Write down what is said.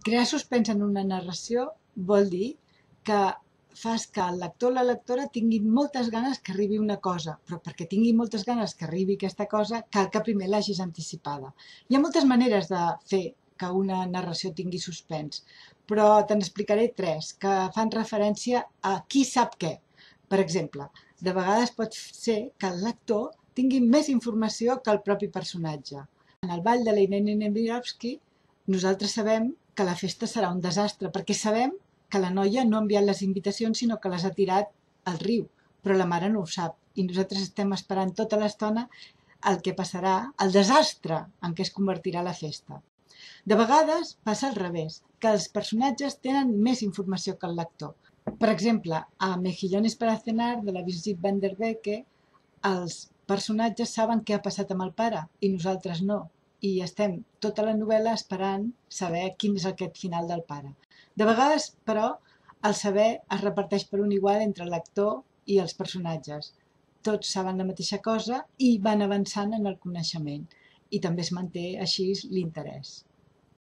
Crear suspens en una narració vol dir que fas que el lector o la lectora tingui moltes ganes que arribi una cosa, però perquè tingui moltes ganes que arribi aquesta cosa, cal que primer l'hagis anticipada. Hi ha moltes maneres de fer que una narració tingui suspens, però te n'explicaré tres que fan referència a qui sap què. Per exemple, de vegades pot ser que el lector tingui més informació que el propi personatge. En el ball de l'Irene Nemirovsky, nosaltres sabem que la festa serà un desastre, perquè sabem que la noia no ha enviat les invitacions, sinó que les ha tirat al riu, però la mare no ho sap. I nosaltres estem esperant tota l'estona el que passarà, el desastre en què es convertirà la festa. De vegades passa al revés, que els personatges tenen més informació que el lector. Per exemple, a Mejillones para cenar, de la Brigitte van der Becke, els personatges saben què ha passat amb el pare i nosaltres no. I estem tota la novel·la esperant saber quin és aquest final del pare. De vegades, però, el saber es reparteix per un igual entre el lector i els personatges. Tots saben la mateixa cosa i van avançant en el coneixement. I també es manté així l'interès.